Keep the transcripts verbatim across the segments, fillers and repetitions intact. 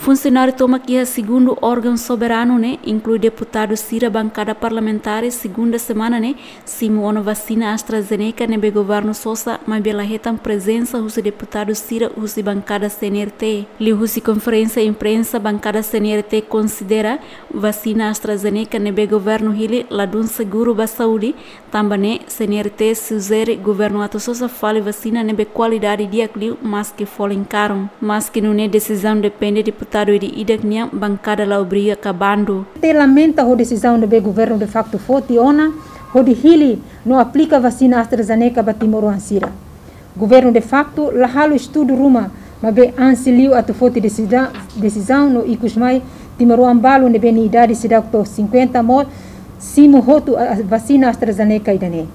Funsionáriu tomak iha segundu órgaun soberanu ne'e, inklui deputadu sira bankada parlamentár, segunda semana ne'e simu ona vasina AstraZeneca ne'ebé governu sosa, maibé la hetan prezensa husi deputadu sira husi bankada C N R T. Liuhusi konferénsia imprensa, bankada C N R T konsidera vasina AstraZeneca ne'ebé governu hili ladún seguru ba saúde, tanba ne'e C N R T sujere governu atu sosa fali vasina ne'ebé kualidade di'ak liu maski folin karun. Maski nune'e desizaun depende deputadu ida-idak nian, bankada la obriga ka bandu. Te lamenta ho desizaun ne'ebé governu de facto foti ona hodi hili no aplika vasina AstraZeneca ba timoroan sira. Governu de facto la halo estudu ruma, maibé ansi liu atu foti desida-, desizaun no ikus mai timoroan balu ne'ebé nia idade seidauk to'o cinquenta mós simu hotu a, a vasina AstraZeneca ida-ne'e.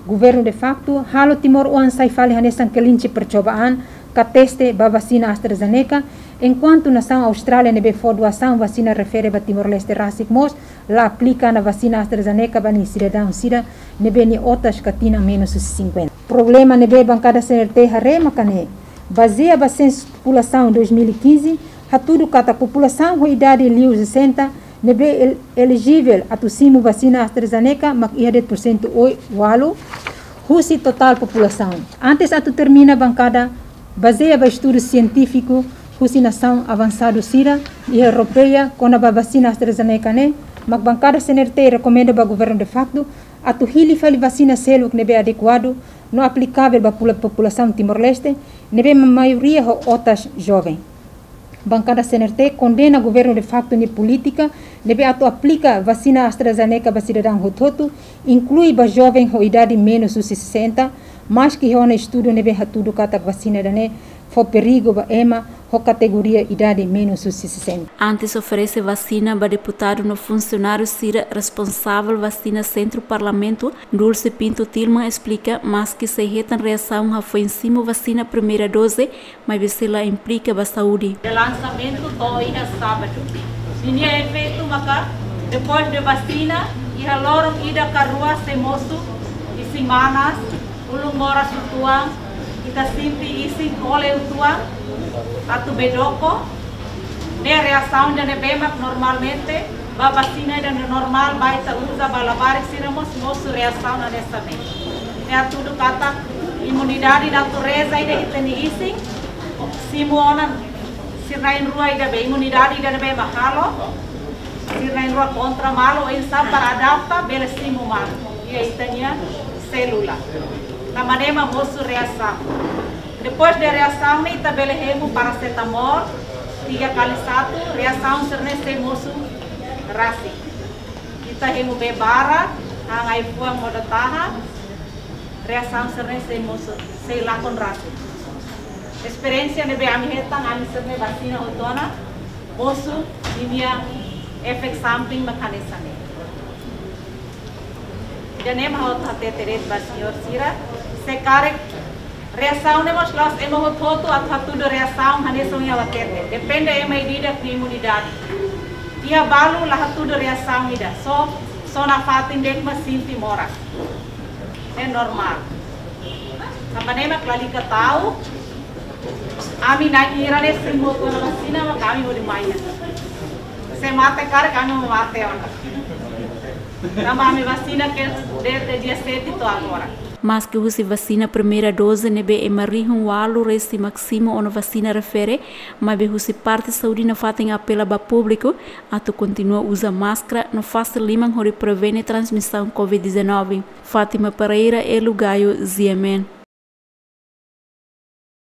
Governu de facto halo timoroan sai fali hanesan kelinci percobaan ka teste ba vasina AstraZeneca, enkuantu nasaun Austrália ne'ebé fó doasaun vasina refere ba Timor-Leste rasik mós la aplika ona vasina AstraZeneca ba nia sidadaun sira ne'ebé nia otas ka tinan menus husi cinquenta. Problema ne'ebé bankada C N R T haree maka ne'e, bazeia ba sensu populasaun dois mil e quinze, hatudu katak populasaun ho idade liu sessenta ne'ebé el-, elejivel atu simu vasina AstraZeneca mak iha de'it porsentu oi-, ualu husi totál populasaun. Antes atu termina, bankada bazeia ba estudu sientífiku husi nasaun avansadu sira iha Europeia kona-ba vasina AstraZeneca ne'e, mak bankada C N R T rekomenda ba governu de facto atu hili fali vasina seluk ne'ebé adekuadu no aplikavel ba pula-, populasaun Timor-Leste, ne'ebé ma-, maioria ho otas joven. Bankada C N R T kondena governu de facto nia polítika ne'ebé atu aplika vasina AstraZeneca ba sidadaun hotu-hotu, inklui ba joven ho idade menus husi sessenta, maski iha ona estudu ne'ebé hatudu katak vasina ida-ne'e fó perigu ba ema ho kategoria idade menus husi sessenta. Antes oferese vasina ba deputadu no funsionáriu sira responsavel vasina sentru parlamentu, Dulce Pinto Tilman esplika, maski sei hetan reasaun hafoin simu vasina primeira doze, maibé sei la implika ba saúde. De lansamentu to'o iha sábadu. Ninia efeitu maka, depois de vasina, iha loron ida ka rua sei mosu isin manas, ulun moras uitoan, ita sente isin kole uitoan, atu bedoko. Ne'e reasaun ida ne'ebé mak normalmente ba vasina ida normál ba ita uza ba labarik sira mós mosu reasaun hanesan ne'e. Ne'e hatudu katak imunidade natureza ida ita-nia isin, simu ona sira na'in-rua ida be, imunidade ida ne'ebé mak halo sira na'in-rua kontra malu, oinsá para adapta bele simu malu iha ita-nia sélula. Tanba ne'e mak mosu reasaun. Depois de reasaun ne'e ita bele hemu parasetamol tiga kali satu, reasaun sira-ne'e sei mosu rasik. Ita hemu bee barak, han ai-fuan modo tahan, reasaun sira-ne'e sei mosu, sei lakon rasik. Esperiénsia ne'ebé ami hetan, ami sira-ne'e vasina hotu ona, mosu ninia efek samping mak hanesan ne'e. Ida-ne'e mak ha'u atu hatete de'it ba señór sira, se karik reasaun ne'e mós la'ós ema hotu-hotu atu hatudu reasaun hanesan ohin ha'u hatete. Depende ema ida-idak nia imunidade. Iha balu la hatudu reasaun ida, só, só nafatin de'it mak sente moras. Ne'e normál. Tanba ne'e mak lalika ta'uk, ami na'in hira ne'e simu hotu ona vasina, mak ami hodi mai iha. Se mate karik ami mak mate ona. Tanba ami vasina ke desde dia sete to'o agora. Maski husi vasina primeira doze ne'ebé ema rihun ualu resin mak simu ona vasina refere, maibé husi parte saúde nafatin apela ba públiku atu kontinua uza máskara no fase liman hodi prevene transmisaun covid dezanove. Fátima Pereira, Elu Gayo, G M N.